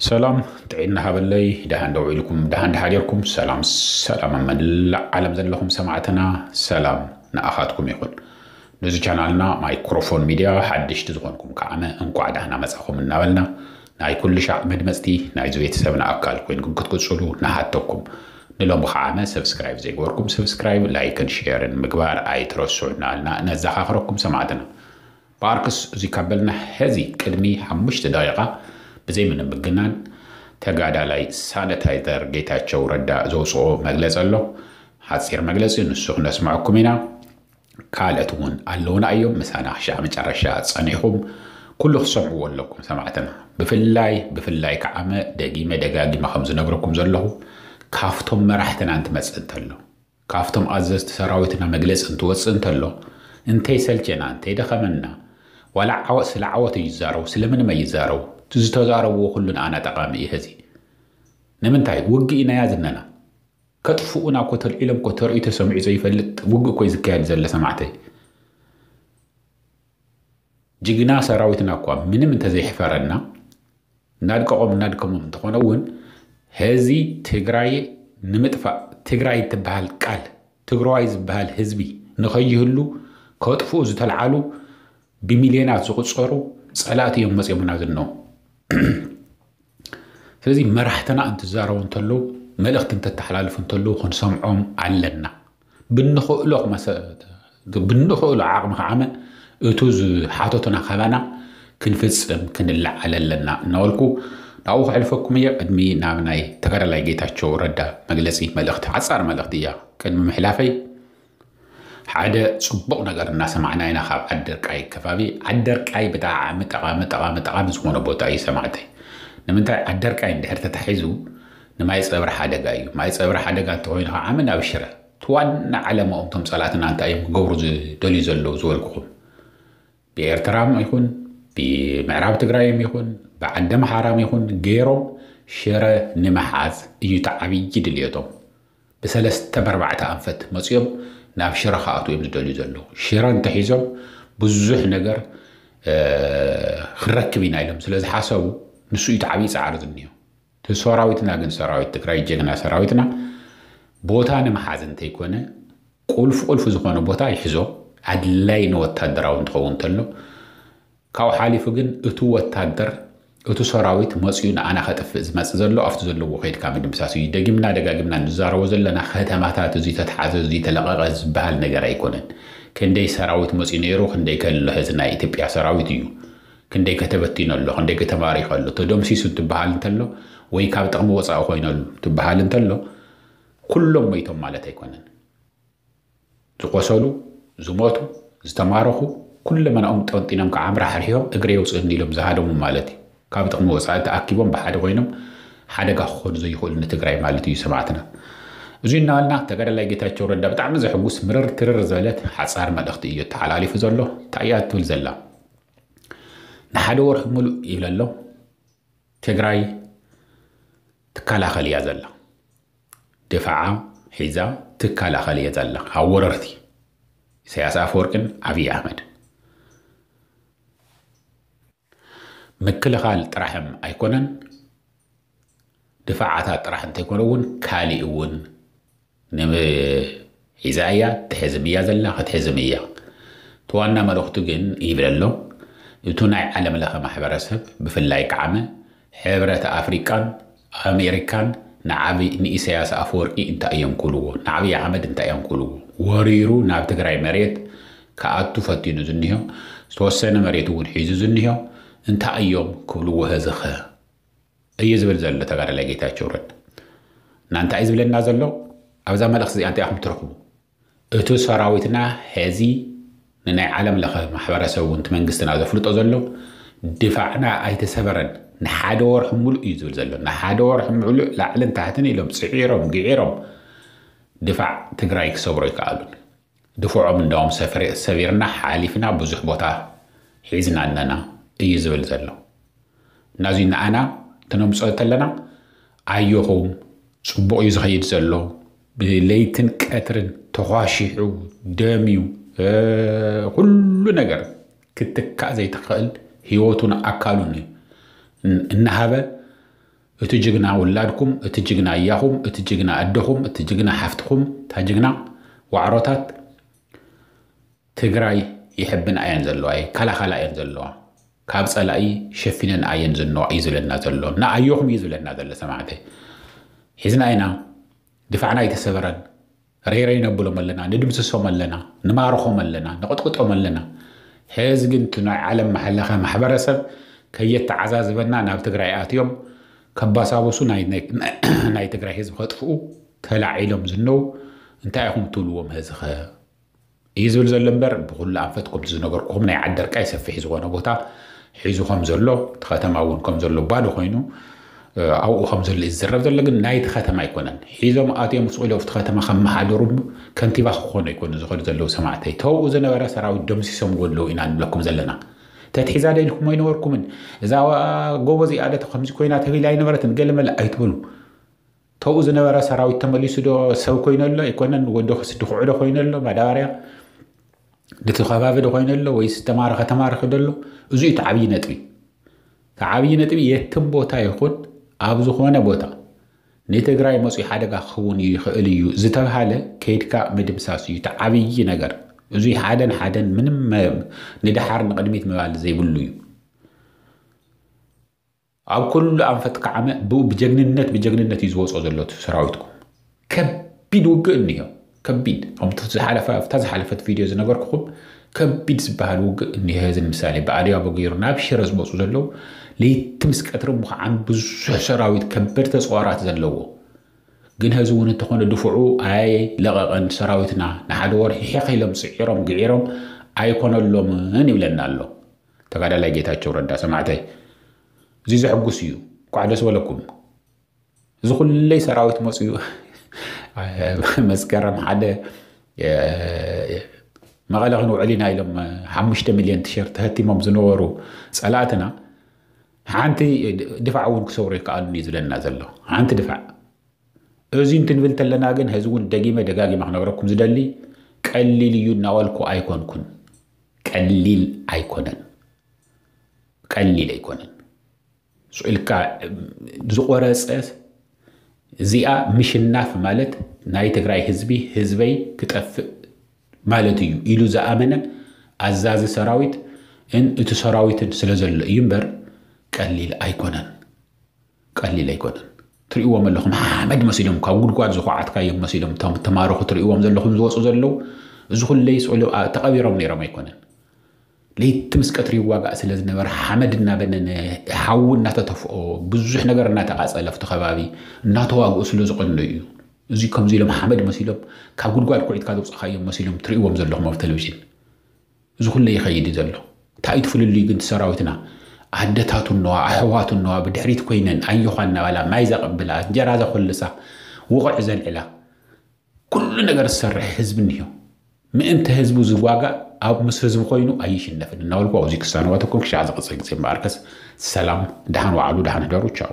ሰላም ጥዒና ሃበለይ። ደሃን ደው ኢልኩም፣ ደሃን ደሓዲርኩም። ሰላም ሰላም ኣብ መላእ ዓለም ዘለኹም ሰማዕትና፣ ሰላም ንኣኻትኩም ይኹን። ነዚ ቻናልና ማይክሮፎን ሚድያ ሓድሽቲ ዝኾንኩም ከዓመ እንቋዕ ደህና መጻኹም እናበልና፣ ናይ ኩሉ ሻዕ መድመጽቲ ናይዚ ቤተሰብና ኣካል ኮይንኩም ክትቅጽሉ ንሓተኩም። ንሎሚ ከዓመ ሰብስክራይብ ዘይገበርኩም ሰብስክራይብ፣ ላይክን ሼርን ምግባር ኣይትረስዑ እናበልና ነዘኻኽረኩም ሰማዕትና። ብኣርክስ እዚ ካብ በልና ሕዚ ቅድሚ ሓሙሽተ ደቂቓ ብዘይ ምንም ምግናን ተጋዳላይ ሳነታይዘር ጌታቸው ረዳ ዘውፅኦ መግለፂ ኣሎ። ሓፂር መግለፂ ንሱ ክነስምዐኩም ኢና። ካልኦት እውን ኣለውና እዮም ምሳና ክሻዕ መጨረሻ ፀኒሕኩም ኩሉ ክትሰምዕዎ ኣለኩም ሰማዕትና። ብፍላይ ብፍላይ ከዓመ ደጊመ ደጋጊመ ከም ዝነግረኩም ዘለኹ ካብቶም መራሕትና እንትመፅእ እንተሎ ካብቶም ኣዘዝቲ ሰራዊትና መግለፂ እንትወፅእ እንተሎ እንተይሰልቸና እንተይደኸመና ዋላ ዓወት ስለ ዓወት እዩ ዝዛረቡ ስለምንም ኣይዛረቡ እቲ ዝተዛረብዎ ኩሉ ንኣና ጠቓሚ እዩ። ሕዚ ንምንታይ ውግእ ኢናያ ዝነና ከጥፍኡና እኮ ተልዒሎም እኮ ተርእዩ ተሰሚዑ ዘይፈልጥ ውግእ እኮ እዩ ዝካየድ ዘለ ሰማዕተይ። ጅግና ሰራዊትና እኳ ምንም እንተዘይሕፈረና እናድቀቖም እናድከሞም እንተኾነ እውን ሕዚ ትግራይ ንምጥፋእ ትግራይ እትበሃል ቃል ትግራዋይ ዝበሃል ህዝቢ ንኸይህሉ ከጥፍኡ ዝተልዓሉ ብሚልዮናት ዝቑፀሩ ፀላእቲ እዮም መፅኦምና ዝነው። ስለዚ መራሕትና እንትዛረቡ እንተለዉ መልእኽቲ እንተተሓላልፉ እንተለዉ ክንሰምዖም ኣለና። ብንኽእሎ ክመሰ- ብንኽእሎ ዓቕሚ ከዓመ እቱ ዝሓተቱና ካባና ክንፍፅም ክንለዓል ኣለና እናበልኩ ናብኡ ከሕልፈኩም እየ። ቅድሚ ናብ ናይ ተጋዳላይ ጌታቸው ረዳ መግለፂ መልእኽቲ ሓፃር መልእኽቲ እያ ቅድሚ ምሕላፈይ ሓደ ፅቡቕ ነገር እናሰማዕና ኢና ካብ ዓደርቃይ ከባቢ። ዓደርቃይ ብጣዕሚ ጠቓሚ ጠቓሚ ጠቓሚ ዝኾነ ቦታ እዩ ሰማዕተይ። ንምንታይ ዓደርቃይ እንድሕር ተታሒዙ ንማይ ፀብሪ ሓደጋ እዩ። ማይ ፀብሪ ሓደጋ እንተኮይኑ ከዓ ዓመ ናብ ሽረ እቲ ዋና ዓለማኦም እቶም ፀላእትና እንታይ እዮም ክገብሩ ዝደልዩ ዘለዉ ዝበልኩኹም ብኤርትራም ይኹን ብምዕራብ ትግራይም ይኹን ብዓዲ ምሓራም ይኹን ገይሮም ሽረ ንምሓዝ እዩ እቲ ዓብዪ ድልየቶም። ብሰለስተ በርባዕተ ኣንፈት መፅኦም ናብ ሽረ ክኣትዉ እዮም ዝደልዩ ዘለዉ። ሽረ እንተሒዞም ብዙሕ ነገር ክረክብ ኢና ኢሎም ስለ ዝሓሰቡ ንሱ እዩ ዓብዪ ፃዕሪ ዝኒኦ። እቲ ሰራዊትና ግን ሰራዊት ትግራይ ጀግና ሰራዊትና ቦታ ንምሓዝ እንተይኮነ ቁልፍ ቁልፍ ዝኾነ ቦታ ይሕዞ። ኣድላይ ንወታደራዊ እንትኸውን እንተሎ ካብኡ ሓሊፉ ግን እቱ ወታደር እቱ ሰራዊት መፅኡ ንኣና ከጥፍእ ዝመፅእ ዘሎ ኣብቲ ዘለዎ ከይድካ ምድምሳስ እዩ። ደጊምና ደጋጊምና ንዛረቦ ዘለና ከተማታት እዙይ ተተሓዘ እዙይ ተለቐቐ ዝበሃል ነገር ኣይኮነን። ክንደይ ሰራዊት መፅኡ ነይሩ ክንደይ ከሎ ህዚ ናይ ኢትዮጵያ ሰራዊት እዩ። ክንደይ ከተበቲኖ ኣሎ ክንደይ ከተማሪኸ ኣሎ ተደምሲሱ እንትበሃል እንተሎ ወይ ካብ ጥቕሚ ወፃኢ ኮይነሉ ትበሃል እንተሎ ኩሎም መይቶም ማለት ኣይኮነን። ዝቆሰሉ ዝሞቱ ዝተማረኹ ኩለመናኦም ጠንጢኖም ከዓ ኣምራ ሓርሒሮም እግረ የውፅእኒ ኢሎም ዝሃደሙ ማለት እዩ። ካብ ጥቕሚ ወፃኢ ተኣኪቦም ብሓደ ኮይኖም ሓደጋ ክኾኑ ዘይኽእሉ ንትግራይ ማለት እዩ ሰማዕትና። እዙይ እናበልና ተጋዳላይ ጌታቸው ረዳ ብጣዕሚ ዘሕጉስ ምርር ትርር ዝበለት ሓፃር መልእኽቲ እዩ ተሓላሊፉ ዘሎ። እንታይ እያ ትብል ዘላ? ንሓደ ወርሒ ሙሉእ ይብል ኣሎ ትግራይ ትከላኸል እያ ዘላ። ድፋዓ ሒዛ ትከላኸል እያ ዘላ ካብ ወረርቲ ኢሳያስ ኣፈወርቅን ኣብይ ኣሕመድ። ምክልኻል ጥራሕም ኣይኮነን ድፋዓታት ጥራሕ እንተይኮነ እውን ካሊእ እውን ሒዛ እያ ትሕዝም እያ ዘላ ክትሕዝም እያ። እቲ ዋና መልእኽቱ ግን ይብል ኣሎ እቱ ናይ ዓለም ለኸ ማሕበረሰብ ብፍላይ ከዓመ ሕብረት ኣፍሪቃን ኣሜሪካን ንዓብይ ንኢሳያስ ኣፈወርቂ እንታይ እዮም ክብልዎ ንዓብይ ኣሕመድ እንታይ እዮም ክብልዎ ወሪሩ ናብ ትግራይ መሬት ክኣቱ ፈቲኑ ዝኒሆ ዝተወሰነ መሬት እውን ሒዙ ዝኒሆ እንታይ እዮም ክብልዎ ህዝኸ እዩ ዝብል ዘሎ ተጋዳላይ ጌታቸው ረዳ። እና እንታይ እዩ ዝብለና ዘሎ ኣብዛ መልእኽቲ እዚኣ እንታይ ኢኹም ትረኽቡ? እቱ ሰራዊትና ሐዚ ንናይ ዓለም ለኸ ማሕበረሰብ እውን እቲ መንግስትና ዘፍልጦ ዘሎ ድፋዕና ኣይተሰበረን ንሓደ ወርሒ ሙሉእ እዩ ዝብል ዘሎ። ንሓደ ወርሒ ሙሉእ ላዕልን ታሕትን ኢሎም ፅዒሮም ግዒሮም ድፋዕ ትግራይ ክሰብሮ ይከኣሉን። ድፍዖም እንዳውም ሰፊርና ሓሊፍና ብዙሕ ቦታ ሒዝና ኣለና እዩ ዝብል ዘሎ። እናዙይ ንኣና ተነምፅኦ ተለና ኣዮኹም ፅቡቕ እዩ ዝኸይድ ዘሎ ብለይትን ቀትርን ተኳሺሑ ደምዩ ኩሉ ነገር ክትካእ ዘይትኽእል ህይወቱን ኣካሉን እናሃበ እቲ ጅግና ውላድኩም፣ እቲ ጅግና ኣያኹም፣ እቲ ጅግና ኣደኹም፣ እቲ ጅግና ሓፍትኹም፣ እታ ጅግና ዋዕሮታት ትግራይ ይሕብና እየን ዘለዋ፣ ይከላኸላ እየን ዘለዋ። ካብ ጸላኢ ሸፊነን እየን ዝነዋ እዩ ዝብለና ዘሎ። ንኣየኹም እዩ ዝብለና ዘሎ ሰማዕተይ። ሒዝና ኢና፣ ድፋዕና ኣይተሰበረን። ረይረይ ነብሎም ኣለና፣ ንድምስሶም ኣለና፣ ንማርኾም ኣለና፣ ንቕጥቅጦም ኣለና። ሕዚ ግን እቲ ናይ ዓለም መሓለኸ ማሕበረሰብ ከየተዓዛዝበና ናብ ትግራይ ኣትዮም ከባሳብሱ ናይ፣ ናይ፣ ናይ ትግራይ ህዝቢ ከጥፍኡ ተላዒሎም ዝነው እንታይ ኢኹም ትብልዎም? ሕዚ ኸ እዩ ዝብል ዘሎ እምበር፣ ብኹሉ ኣንፈት ከምቲ ዝነገርኩኹም ናይ ዓደርቃይ ሰፊሕ ዝኾነ ቦታ ሒዙ ከም ዘሎ፣ እቲ ከተማ እውን ከም ዘሎ ባዶ ኮይኑ፣ እ፣ ኣብኡ ከም ዘሎ እዩ ዝዝረብ ዘሎ። ግን ናይቲ ከተማ ኣይኮነን። ሒዞም ኣትዮም ስቕ ኢሎም ኣብቲ ከተማ ከመሓደሩ ከንቲባ ክኾኑ ኣይኮኑ ዝኸዱ ዘለዉ ሰማዕተይ። ተውኡ ዝነበረ ሰራዊት ደምሲሶምዎ ኣለዉ ኢና ንብለኩም ዘለና። ተትሒዛ ዶ ኢልኩም ኣይነበርኩምን? እዛ ጎቦ እዚኣ ዶ ከምዚ ኮይና ተቢላ ኣይነበረትን? ገለመለ ኣይትበሉ። ተውኡ ዝነበረ ሰራዊት ተመሊሱ ዶ ሰብ ኮይኑ ኣሎ? ኣይኮነን። ወዲ ክስ ድኹዑ ዶ ኮይኑ ኣሎ? ማዳበርያ ድቲ ከባቢ ዶ ኮይኑ ኣሎ? ወይስ ተማረኸ ተማረኸ ዶ ኣሎ? እዚ እዩ እቲ ዓብዪ ነጥቢ። እቲ ዓብዪ ነጥቢ የትም ቦታ ይኹን ኣብ ዝኾነ ቦታ ንትግራይ መፅኡ ሓደጋ ክኸውን ይኽእል እዩ ዝተብሃለ ከይድካ ምድምሳስ እዩ እቲ ዓብዪ ነገር። እዚ ሓደን ሓደን ምንም መ-፣ ንደሓር ንቕድሚት ምባል ዘይብሉ እዩ። ኣብ ኩሉ ኣንፈት ከዓመ ብኡ ብጀግንነት፣ ብጀግንነት እዩ ዝወፅኦ ዘሎ እቲ ሰራዊትኩም። ከቢድ ውግእ እኒሆ፣ ከቢድ። ከምቲ ዝሓለፈ፣ ኣብታ ዝሓለፈት ቪድዮ ዝነገርኩኹም ከቢድ ዝበሃል ውግእ እኒሆ። እዚ ንምሳሌ ብኣድያቦ ገይሩ ናብ ሽረ ዝመፁ ዘለዉ ለይቲ ምስ ቀትሪ ምዃዓን ብዙሕ ሰራዊት ከበድቲ ኣፅዋራት ዘለዎ። ግን ሕዚ እውን እንተኾነ ድፍዑ ኣይለቐቐን ሰራዊትና። ንሓደ ወርሒ ሒቕ ኢሎም ስዒሮም ግዒሮም ኣይኮነሎምን ይብለና ኣሎ ተጋዳላይ ጌታቸው ረዳ። ሰማዕተይ፣ እዚ ዘሕጉስ እዩ። እንኳዕ ደስ በለኩም። እዚ ኩለይ ሰራዊት መፅዩ መስከረም ሓደ፣ እ፣ መቐለ ክንውዕል ኢና ኢሎም ሓሙሽተ ሚልዮን ቲሸርት ተህቲሞም ዝነበሩ ጸላእትና ሓንቲ ድፋዕ እውን ክሰብሩ ይከኣሉን እዩ ዝብለና ዘሎ። ሓንቲ ድፋዕ። እዚ እንትንብል ተለና ግን፣ ሕዚ እውን ደጊመ ደጋጊመ ክነግረኩም ዝደሊ፣ ቀሊል እዩ እናበልኩ ኣይኮንኩን። ቀሊል ኣይኮነን። ቀሊል ኣይኮነን። ስቕ ኢልካ ዝቖረጸ፣ እዚኣ ምሽናፍ ማለት ናይ ትግራይ ህዝቢ፣ ህዝበይ ክጠፍእ ማለት እዩ ኢሉ ዝኣመነ ኣዛዚ ሰራዊት ን እቲ ሰራዊትን ስለ ዘሎ እዩ እምበር ቀሊል ኣይኮነን። ቀሊል ኣይኮነን። ትርእይዎም ኣለኹም፣ ሓመድ መሲሎም፣ ካብ ጉድጓድ ዝኹዓትካዮም መሲሎም፣ እቶም ተማረኹ ትርእይዎም ዘለኹም ዝወፁ ዘለዉ፣ እዚ ኩለይ ስእሉ፣ ኣ-፣ ተቐቢሮም ነይሮም ኣይኮነን። ለይቲ ምስ ቀትሪ ይዋጋእ ስለ ዝነበረ፣ ሓመድ እናበነነ፣ ሓዊ እናተተፍኦ፣ ብዙሕ ነገር እናተቓጸለ፣ ኣብቲ ከባቢ እናተዋግኡ ስለ ዝቐነዩ እዩ። እዚ ከምዚ ኢሎም ሓመድ መሲሎም፣ ካብ ጉድጓድ ኩዒትካ ዘውፃእካዮም መሲሎም ትርእይዎም ዘለኹም ኣብ ቴሌቪዥን። እዚ ኩሉ ይኸይድ እዩ ዘሎ። እንታይ እዩ እቲ ፍልልዩ ግን? ሰራዊትና ኣደታቱ እነዋ፣ ኣሕዋቱ እነዋ፣ ብድሕሪት ኮይነን ኣየዃ እናበላ ማይ ዘቐብላ፣ እንጀራ ዘኾልሳ፣ ውቕዕ ዘልዕላ፣ ኩሉ ነገር ዝሰርሕ ህዝቢ እኒሆ። ምእንቲ ህዝቡ ዝዋጋእ ኣብ ምስ ህዝቡ ኮይኑ ኣይሽነፍን እናበልኩ ኣብዚ ክሳነዋተኩም ክሻዕ ዝቕፅል ግዜ እምበኣርከስ ሰላም፣ ደሓን ዋዕሉ፣ ደሓን ህደሩ፣ ቻው።